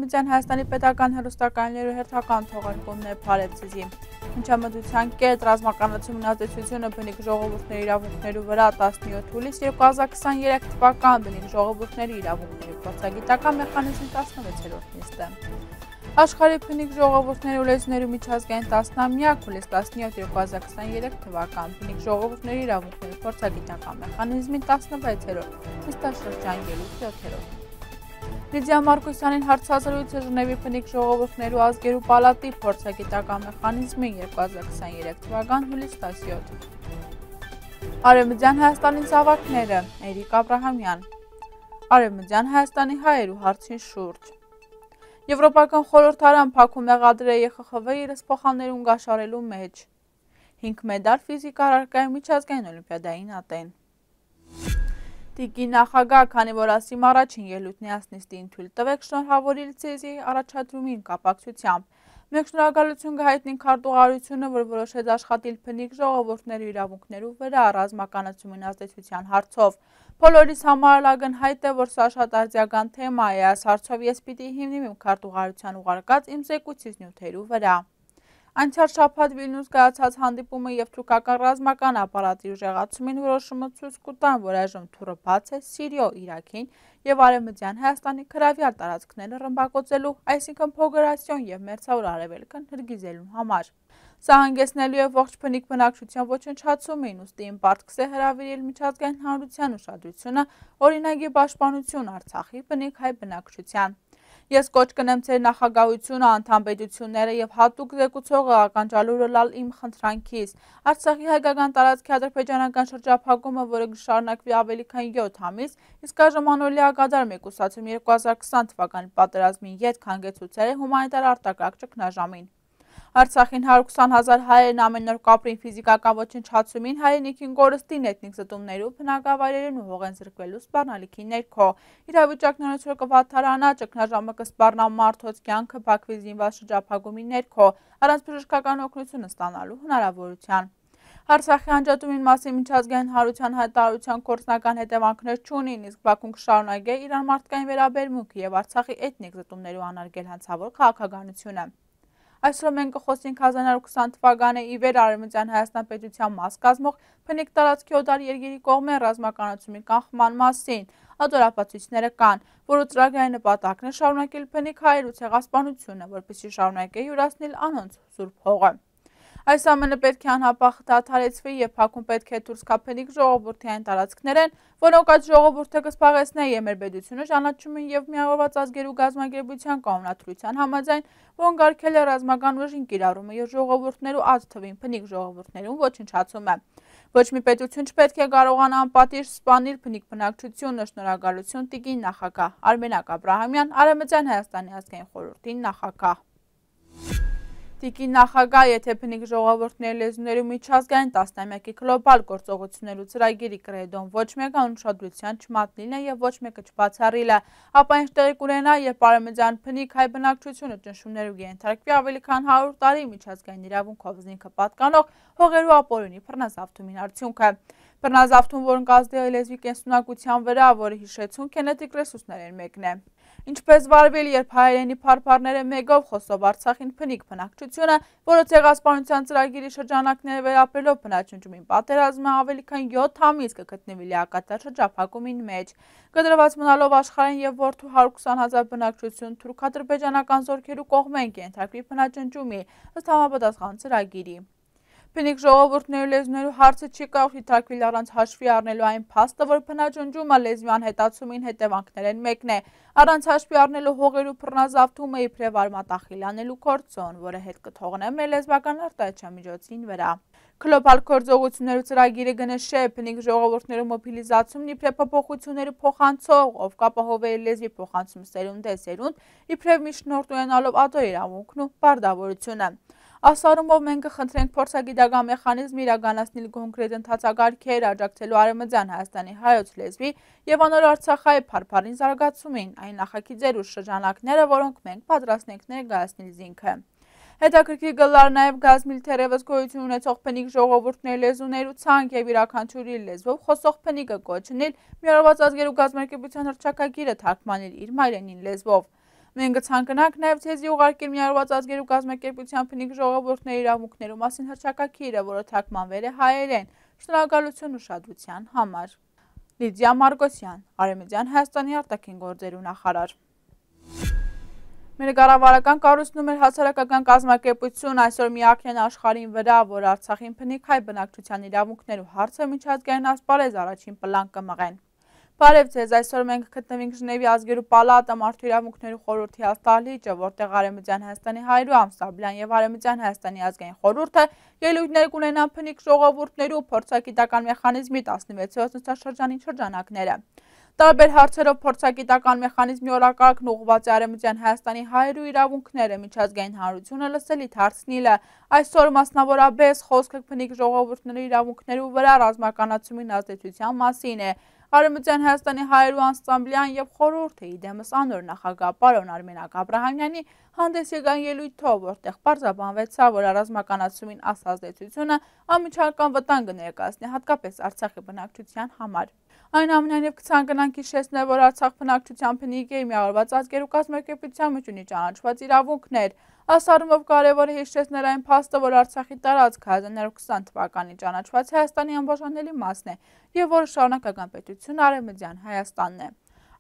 Արևմտյան Հայաստանի պետական հեռուստակայաններու հերթական թողարկումն է Փարեվցիզի։ Հնչամտության կետ ռազմականացումն ազդեցությունը բնիկ ժողովուրդների իրավունքներու վրա 17 հուլիս 2023 թվական բնիկ ժողովուրդների իրավունքների փորձագիտական մեխանիզմի 16-րդ նիստը։ Աշխարհի բնիկ ժողովուրդների ու լեզուներու միջազգային տասնամյակ հուլիս 17 2023 թվական բնիկ ժողովուրդների իրավունքների փորձագիտական մեխանիզմի 16-րդ նիստաշրջան ելույթ 7-րդ։ Լիդիա Մարկոսյանին հարցազրույցը Ժնևի բնիկ ժողովուրդներու ազգերու պալատի փորձագիտական մեխանիզմի 2023 թվական հուլիս 17։ Արևմտյան Հայաստանի զավակները Էրիկ Աբրահամյան։ Արևմտյան Հայաստանի հայերու հարցին շուրջ։ Եվրոպական խորհրդարան փակում մեղադրել է ԵԽԽՎ իր սփոխաններուն գաշարելու մեջ։ 5 մեդալ ֆիզիկա առարկայի միջազգային օլիմպիադային ատեն։ Տիկի նախագահ, քանի որ ասիմ առաջին ելույթն ասնիստին թույլ տվեք շնորհավորիլ ցեզի առաջադրումին կապակցությամբ։ Մենք շնորհակալություն կհայտնենք քարտուղարությունը, որ որոշեց աշխատել բնիկ ժողովուրդների իրավունքներու վրա ռազմականացումին ազդեցության հարցով։ Բոլորիս համար ակնհայտ է, որ սա շատ արձիական թեմա է, այս հարցով ես պիտի հիմնեմ իմ քարտուղարության ուղարկած իմ զեկույցից նյութերու վրա։ Անցյալ շաբաթ Վիլնյուս կայացած հանդիպումը եւ թուրքական ռազմական ապարատի ուժեղացումին որոշումը ցույց կտան, որ այժմ թուրը բաց է Սիրիո, Իրաքին եւ Արևմտյան Հայաստանի քրավյալ տարածքները ռմբակոծելու, այսինքն փոգրացիոն եւ մերձավոր արևելքն հրգիզելու համար։ Սա հանգեցնելու է ողջ բնիկ բնակչության ոչնչացումին, ուստի իմ պարտքս է հրավիրել միջազգային հանրության ուշադրությունը օրինագի պաշտպանություն Արցախի բնիկ հայ բնակչության։ Ես կոչ կնեմ ձեր նախագահությունը, անդամ պետությունները եւ հատուկ զեկուցողը ականջալուրը լալ իմ խնդրանքից։ Արցախի հայկական տարածքի ադրբեջանական շրջափակումը, որը կշարունակվի ավելի քան 7 ամիս, իսկ այժմ անօրինի ակադար մեկուսացում 2020 թվականի պատերազմին յետ հանգեցուցել է հումանիտար արտակարգ ճգնաժամին։ Արցախին 120,000 հայերն ամեն օր կապրին ֆիզիկական ոչնչացումին, հայրենիքին կորստին, էթնիկ զտումներու, բնակավայրերին ու հողեն զրկվելու սպառնալիքի ներքո։ Իրավիճակն անցյալ կվատթարանա, ճգնաժամը կսպառնա մարդոց կյանքը Բաքվի զինված շրջափակումի ներքո, առանց բժշկական օգնություն ստանալու հնարավորության։ Արցախի անջատումին մասին միջազգային հանրության հայտարարության գործնական հետևանքներ չունին, իսկ Բաքուն կշարունակի իր մարդկային վերաբերմունքը եւ Արցախի էթնիկ զտումներու անարգել հանցավոր քաղաքականությունը։ Այսօր մենք կխոսենք 1920 թվականի ի վեր Արևմտյան Հայաստան պետության մաս կազմող բնիկ տարածքի օտար երկրի կողմեն ռազմականացումի կանխման մասին։ Ադորապացույցները կան, որը ծրագրային նպատակն է շարունակել բնիկ հայերու ցեղասպանությունը, որպեսզի շարունակի յուրացնել անոնց սուրբ հողը։ Այս ամենը պետք է անհապաղ դադարեցվի եւ Բաքուն պետք է դուրս գա բնիկ ժողովրդի այն տարածքներեն, որոնք այդ ժողովուրդը կսպաղեցնեն եւ մեր պետությունը ճանաչում են եւ միավորված ազգերու գազམ་ագերբության կանոնադրության համաձայն, որոնք արգել է ռազմական ուժին կիրառումը եւ ժողովուրդներու աճ թվին բնիկ ժողովուրդներուն ոչնչացումը։ Ոչ մի պետություն չպետք է կարողանա անպատիժ սպանել բնիկ բնակչությունը։ Շնորհակալություն տիկին նախագահ Արմենակ Աբրահամյան, Արևմտյան Հայաստանի ազգային խորհրդի նախագահ։ Տիկին նախագահ, եթե բնիկ ժողովուրդների լեզուներու միջազգային տասնամյակի գլոբալ գործողություններու ծրագիրի կրեդոն ոչ մեկը անուշադրության չմատնիլ է եւ ոչ մեկը չբացառիլ է, ապա ինչ տեղի կունենա, երբ Արևմտյան բնիկ հայ բնակչությունը ճնշումներու կենթարկվի ավելի քան 100 տարի միջազգային իրավունքով զինքը պատկանող հողերու ապօրինի բռնազավթումին արդյունքը։ Բռնազավթում, որն կազդել է լեզվի կենսունակության վրա, որը հիշեցուն գենետիկ ռեսուրսներեն մեկն է։ Ինչպես վարվել, երբ հայերենի փառփառները մեգով խոսով Արցախին բնիկ բնակչությունը, որը ցեղասպանության ծրագիրի շրջանակները վերապրելով բնաճնջումին պատերազմը ավելի քան 7 ամիս կգտնվի լիակատար շրջափակումին մեջ, կդրված մնալով աշխարհին եւ որդու 120,000 բնակչություն թուրք-ադրբեջանական զորքերու կողմեն կենթարկվի բնաճնջումի ըստ համապատասխան ծրագիրի։ Բնիկ ժողովուրդներու լեզուներու հարցը չի կարող դիտարկվել առանց հաշվի առնելու այն փաստը, որ բնաճնջումը լեզվի անհետացումին հետևանքներեն մեկն է, առանց հաշվի առնելու հողերու բռնազավթումը իբրև արմատախիլ անելու գործոն, որը հետ կթողնե մեր լեզվական արտահայտչամիջոցին վրա։ Գլոբալ գործողություններու ծրագիրը կնշե բնիկ ժողովուրդներու մոբիլիզացումն իբրև փոփոխություններու փոխանցող, ով կապահովի լեզվի փոխանցում սերունդ է սերունդ, իբրև միջնորդ ունենալով ադո իրավունքն ու պարտավորությունը։ Ասարումով մենք կխնդրենք փորձագիտական մեխանիզմ իրականացնել կոնկրետ ընթացակարգեր, աջակցելու Արևմտյան Հայաստանի հայոց լեզվի եւ անոր Արցախայի փառփառին զարգացումին, այն նախագիծեր ու շրջանակները, որոնք մենք պատրաստ ենք ներկայացնել զինքը։ Հետաքրքիր գլար նաև գազմիլ թերևս գոյություն ունեցող բնիկ ժողովուրդների լեզուներու ցանկ եւ իրականչուրի լեզվով խոսող բնիկը կոչնել միավորված ազգերու գազམ་ակերպության հռչակագիրը թարգմանել իր մայրենին լեզվով։ Մենք կցանկանանք նաև ցեզի ուղարկել միավորված ազգերու կազմակերպության բնիկ ժողովուրդների իրավունքներու մասին հռչակագիրը, որը թարգմանվել է հայերեն։ Շնորհակալություն ուշադրության համար։ Լիդիա Մարգոսյան, Արևմտյան Հայաստանի արտաքին գործերու նախարար։ Մեր կառավարական կառույցն ու մեր հասարակական կազմակերպություն այսօր միակն են աշխարհին վրա, որ Արցախին բնիկ հայ բնակչության իրավունքներու հարցը միջազգային ասպարեզ առաջին պլան կմղեն։ Բարև ձեզ, այսօր մենք գտնվենք Ժնևի ազգերու պալատը մարդու իրավունքներու խորհրդի հաստատիչը, որտեղ Արևմտյան Հայաստանի հայրու Ամսաբլյան եւ Արևմտյան Հայաստանի ազգային խորհուրդը ելույթներ կունենան բնիկ ժողովուրդներու փորձագիտական մեխանիզմի 16-րդ նստաշրջանի շրջանակները։ Տարբեր հարցերով փորձագիտական մեխանիզմի օրակարգն ուղղված է Արևմտյան Հայաստանի հայրու իրավունքները միջազգային հանրությունը լսելիք հարցնիլը։ Այսօր մասնավորապես խոսքը բնիկ ժողովուրդների իրավունքներու վրա ռազմականացումին ազդեցության մասին է։ Արևմտյան Հայաստանի հայրու Ամսաբլյան եւ խորհուրդը իդեմս անոր նախագահ պարոն Արմենակ Աբրահամյանի հանդես եկան ելույթով, որտեղ պարզաբանվեցավ, որ ռազմականացումին ազդեցությունը անմիջական վտանգ կներկայացնի հատկապես Արցախի բնակչության համար։ Այնուամենայնիվ կցանկանանք հիշեցնել, որ Արցախ բնակչության բնիկ է միավորված ազգերու կազմակերպության մեջ ունի ճանաչված իրավունքներ։ Ասարումով կարևոր է հիշեցնել այն փաստը, որ Արցախի տարածքը 1920 թվականին ճանաչված Հայաստանի անբաժանելի մասն է եւ որը շարունակական պետություն Արևմտյան Հայաստանն է։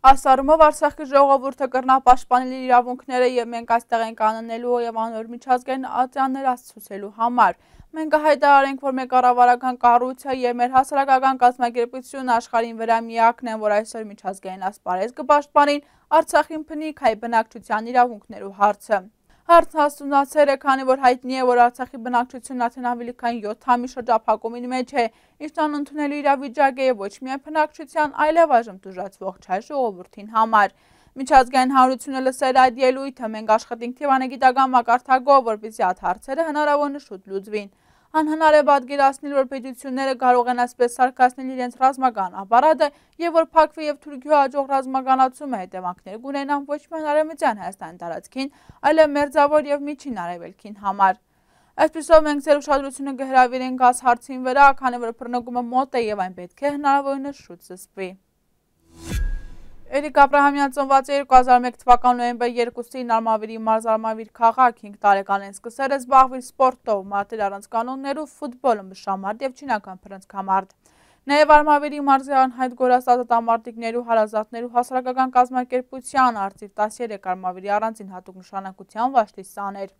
Ասարումով Արցախի ժողովուրդը կրնա պաշտպանել իր իրավունքները եւ մենք այստեղ ենք անելու եւ անոր միջազգային ատյաններ աստծուցելու համար։ Մենք հայտարարենք, որ մեր կառավարական կառույցը եւ մեր հասարակական կազմակերպությունը աշխարհին վրա միակն են, որ այսօր միջազգային ասպարեզ կպաշտպանին Արցախին բնիկ հայ բնակչության իրավունքներու հարցը։ Հարցն հասունացել է, քանի որ հայտնի է, որ Արցախի բնակչությունն արդեն ավելի քան 7 ամիս շրջափակումին մեջ է, ինչն անընդունելի իրավիճակ է եւ ոչ միայն բնակչության, այլև այժմ տուժածվող չայ ժողովրդին համար։ Միջազգային հանրությունը լսել այդ ելույթը, մենք աշխատենք թիվանագիտական մակարդակով, որպեսզի այդ հարցերը հնարավորինս շուտ լուծվին։ Անհնար է պատկերացնել, որ պետությունները կարող են այսպես սարքացնել իրենց ռազմական ապարատը եւ որ փակվի եւ Թուրքիա հաջող ռազմականացումը հետևանքներ կունենան ոչ միայն Արևմտյան Հայաստանի տարածքին, այլև մերձավոր եւ միջին արևելքին համար։ Այսպիսով մենք ձեր ուշադրությունը կհրավիրենք այս հարցին վրա, քանի որ բռնկումը մոտ է եւ այն պետք է հնարավորինս շուտ սկսվի։ Էրիկ Աբրահամյան ծնված է 2001 թվականի նոյեմբեր 2-ին Արմավիրի մարզարմավիր քաղաք 5 տարեկանին սկսել է զբաղվել սպորտով, մատել առանց կանոններով, ֆուտբոլ, ըմբշամարտ եւ չինական փռնցքամարտ։ Նաև Արմավիրի մարզի անհայտ գորաստած տամարտիկներու հարազատներու հասարակական կազմակերպության արծիվ 13 Արմավիրի առանձին հատուկ նշանակության վաշտի սաներ։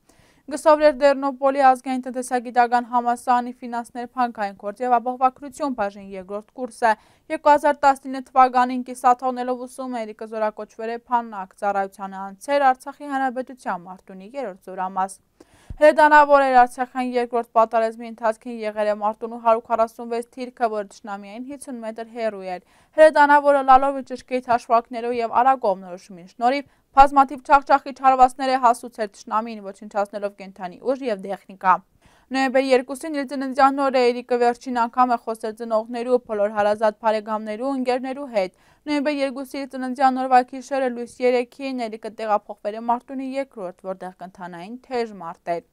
Գսովրեր Դերնոպոլի ազգային տնտեսագիտական համալսարանի ֆինանսներ փանկային գործ եւ ապահովագրություն բաժին երկրորդ կուրսը 2019 թվականին կիսաթողնելով ուսում Էրիկը զորակոչվել է Փաննակ ծառայության անցեր Արցախի հանրապետության Մարտունի 3-րդ զորամաս։ Հրետանավոր էր Արցախյան երկրորդ պատերազմի ընթացքին եղել է Մարտունու 146 թիրքը, որը թշնամիային 50 մետր հեռու էր։ Հրետանավորը լալով ճշգրիտ հաշվարկներով եւ արագողնորոշումին շնորհիվ բազմաթիվ չախճախի չարվածներ է հասուցել թշնամին, ոչնչացնելով կենթանի ուժ եւ տեխնիկա։ Նոյեմբեր 2-ին իր ծննդյան օրը Էրիկը վերջին անգամ է խոսել ծնողներու, բոլոր հարազատ բարեկամներու, ընկերներու հետ։ Նոյեմբեր 2-ի ծննդյան օրվա գիշերը լույս 3-ին Էրիկը տեղափոխվել է Մարտունի 2-րդ, որտեղ կընթանային թեժ մարտեր։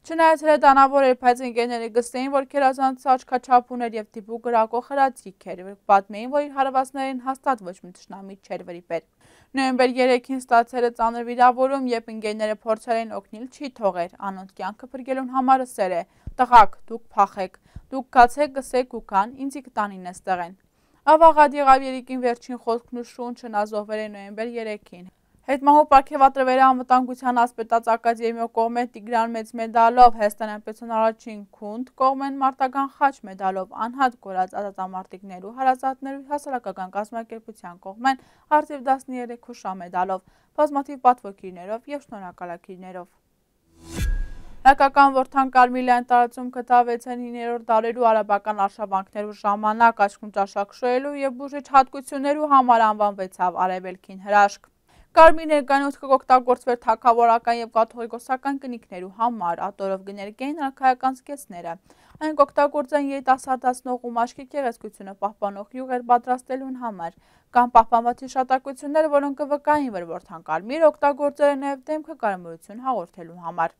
Չնայած հրետանավոր էր, բայց ընկերները գսեին, որ քերազանց աչքաչափ ուներ եւ դիպուկ գրակող հրացիկ էր, պատմեին, որ իր հարվածներին հաստատ ոչ մի թշնամի չէր վրիպել։ Նոյեմբեր 3-ին ստացել է ծանր վիրավորում, երբ ընկերները փորձել են օգնել չի թողեր, անոնց կյանքը փրկելուն համար ասել է. «Տղաք, դուք փախեք, դուք կացեք, գսեք ու կան, ինձի կտանին էստեղ են»։ Ավաղად եղավ Էրիկին վերջին խոսքն ու շունչը ազոհվել է նոյեմբեր 3-ին։ Հետմահու պարգևատրվել է անվտանգության ասպետաց ակադեմիո կողմեն Տիգրան մեծ մեդալով, Հայաստանյան պետության առաջին քունդ կողմեն մարտական խաչ մեդալով, անհատ կորած ազատամարտիկներու հարազատներու հասարակական կազմակերպության կողմեն արծիվ 13 հուշա մեդալով, բազմաթիվ պատվոգիրներով եւ շնորհակալագիրներով։ Հայկական որդան Կարմիլյան տարածում գտավեցեն 9-րդ դարերու արաբական արշավանքներու ժամանակ աչքում ճաշակ շոյելու եւ բուժիչ հատկություններու համար անվանվեցավ Արևելքին հրաշք։ Կարմիր ներկայացուցքը կօգտագործվեր թագավորական եւ կաթողիկոսական կնիկներու համար, ատորով կներկային արքայական զգեստները։ Այն կօգտագործեն երիտասարդացնող ու մաշկի գեղեցկությունը պահպանող յուղեր պատրաստելուն համար։ Կան պահպանված հիշատակություններ, որոնք կվկային, որ որդան Կարմիրը օգտագործել է նաեւ դեմքը կարմրություն հաղորդելու համար։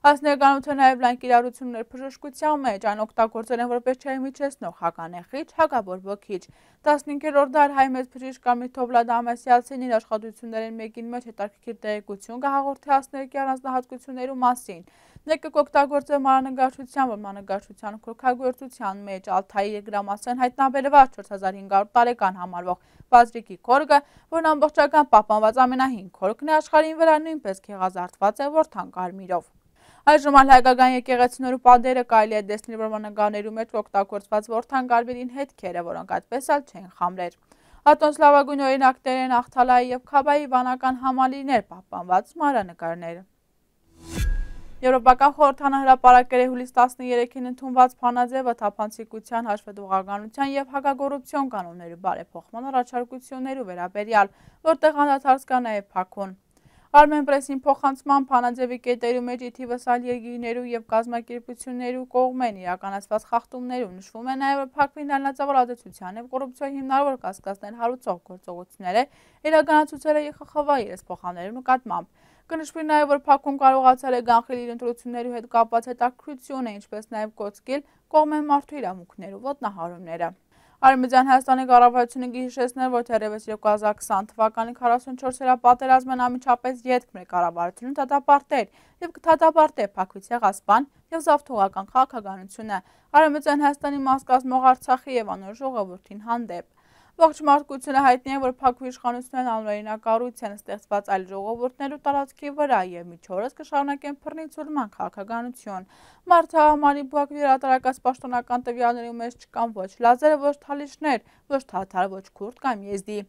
Այս ներկայությունը նաև լայն կիրառություններ բժշկության մեջ, այն օգտագործել են որպես չհիմիջեցնող, հականեխիչ, հակաբորբոքիչ։ 15-րդ դար հայ մեծ բժիշկ Ամիթով Ամասյանցին իր աշխատություններին մեկին մեջ հետաքրքիր տեղեկություն կհաղորդի ասներկի առանձնահատկություններու մասին։ Մեկը կօգտագործել մանրանկարչության, որ մանրանկարչության քորքագործության մեջ Ալթայի երկրամասեն հայտնաբերված 4500 տարեկան համարվող բազրիկի քորգը, որն ամբողջական պահպանված ամենահին քորգն է աշխարհին վրա, նույնպես գեղազարդված է որդան կարմիրով։ Այժմ հայկական եկեղեցիներու պատերը կարելի է տեսնել, որ մանրանկարներու մեջ օգտագործված որդան կարմիրին հետքերը, որոնք այդպես էլ չեն խամրեր։ Ատոնց լավագույն օրինակներ են Ախթալայի եւ Քաբայի վանական համալիրներ պահպանված մանրանկարները։ Եվրոպական խորհրդանը հրապարակել է հուլիս 13-ին ընդունված փանաձևը թափանցիկության, հաշվետվողականության եւ հակակոռուպցիոն կանոնների բարեփոխման առաջարկություններու վերաբերյալ, որտեղ անդրադարձ կա նաեւ Փաքուն։ Armenpress-ին փոխանցման փանաձևի կետերու մեջ ի թիվս այլ երկիրներու եւ կազմակերպություններու կողմեն իրականացված խախտումներու նշվում է նաեւ, որ Փաքվին լայնածավալ ազդեցության եւ կոռուպցիայի հիմնավոր կասկածներ հարուցող գործողությունները իրականացուցել է ԵԽԽՎ-ի իրենց փոխանցելու նկատմամբ։ Կնշվի նաև, որ Փաքուն կարողացել է գանխել իր ընտրություններու հետ կապված հետաքրքրությունը, ինչպես նաև կոծկել կողմեն մարդու իրավունքներու ոտնահարումները։ Արևմտյան Հայաստանի կառավարությունը գիշեցնել, որ թերևս 2020 թվականի 44-րդ պատերազմն անմիջապես ետք մեր կառավարությունը դատապարտել եւ կդատապարտի Փաքվի ցեղասպան եւ զավթողական քաղաքականությունը Արևմտյան Հայաստանի մաս կազմող Արցախի եւ անոր ժողովրդին հանդեպ։ Ողջ մարդկությունը հայտնի է, որ Փաքվի իշխանություններն անօրինակ են ստեղծված այլ ժողովուրդներու տարածքի վրա եւ միջորս կշարունակեն բռնի-ցուլման քաղաքականություն։ Մարդահամարի Փաքվի հրատարակած պաշտոնական տվյալների մեջ չկան ոչ լազերը, ոչ թալիշներ, ոչ թաթար, ոչ քուրդ կամ եզդի։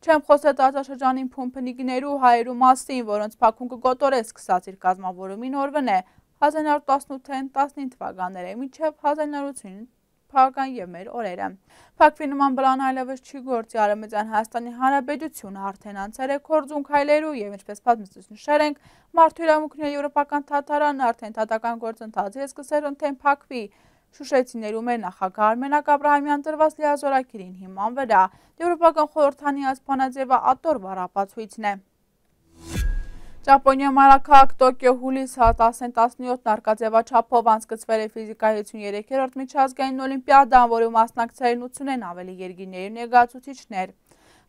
Չեմ խոսել տարածաշրջանին փումփնիկներու հայերու մասին, որոնց Փաքուն կգոտորե սկսած իր կազմավորումին օրվն է 1918-19 թվականները մինչև 1980 թվական եւ մեր օրերը։ Փաքվի նման բլան այլևս չի գործի Արևմտյան Հայաստանի Հանրապետությունը արդեն անցել է կորձուն քայլերու եւ ինչպես պատմիստուց նշել ենք, մարդու իրավունքների եվրոպական թաթարանն արդեն դատական գործընթացը սկսել ընդեն Փաքվի Շուշեցիներու մեր նախագահ Արմենակ Աբրահամյան տրված լիազորակիրին հիման վրա։ Եվրոպական խորհրդանի ասփանաձևը ատոր վառապացույցն է։ Ճապոնիա մայրաքաղաք Տոկիո հուլիս 10-17 արկածեվաչափով անցկացվել է ֆիզիկայի 53-րդ միջազգային օլիմպիադան, որի մասնակցել 80-ն ավելի երկիրների ներկայացուցիչներ։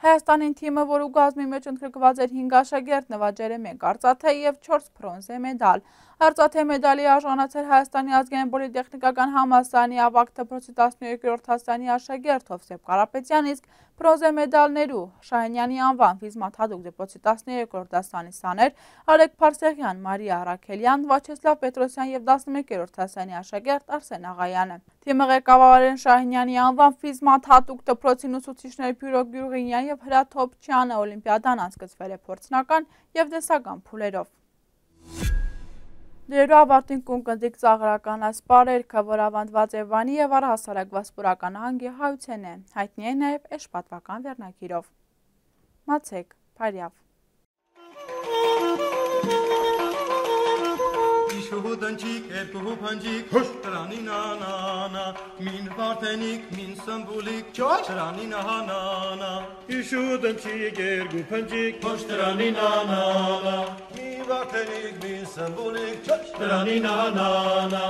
Հայաստանին թիմը, որ ուգազմի մեջ ընդգրկված էր 5 աշակերտ, նվաճել է 1 արծաթե եւ 4 բրոնզե մեդալ։ Արծաթե մեդալի արժանացել Հայաստանի ազգային պոլիտեխնիկական համալսարանի ավագ դպրոցի 12-րդ դասարանի աշակերտ Հովսեփ Կարապետյան, իսկ բրոնզե մեդալներու Շահենյանի անվան ֆիզմաթադուկ դպրոցի 13-րդ դասարանի սաներ Արեգ Փարսեղյան, Մարիա Արաքելյան, Վաչեսլավ Պետրոսյան եւ 11-րդ դասարանի աշակերտ Արսեն Աղայանը։ Թիմը ղեկավարել են Շահենյանի անվան ֆիզմաթադուկ դպրոցի ուսուցիչներ Բյուրո Գյուրգինյան եւ Հրաթ Հոբչյանը։ Օլիմպիադան անցկացվել է փորձնական եւ տեսական փուլերով։ Դերու ավարտին կունկնդիկ ծաղրական ասպարերքը, որ ավանդված է Վանի եւ առհասարակ Վասպուրական ահանգի հայության է, հայտնի է նաեւ էշպատվական վերնագիրով։ Մացեք, Փարյավ։ Շուհուդանջիկ, երկու փանջիկ, տրանի նանանա, մին վարտենիկ, մին սմբուլիկ, տրանի նանանա, Շուհուդանջիկ, երկու փանջիկ, տրանի նանանա, մին վարտենիկ, մին սմբուլիկ, տրանի նանանա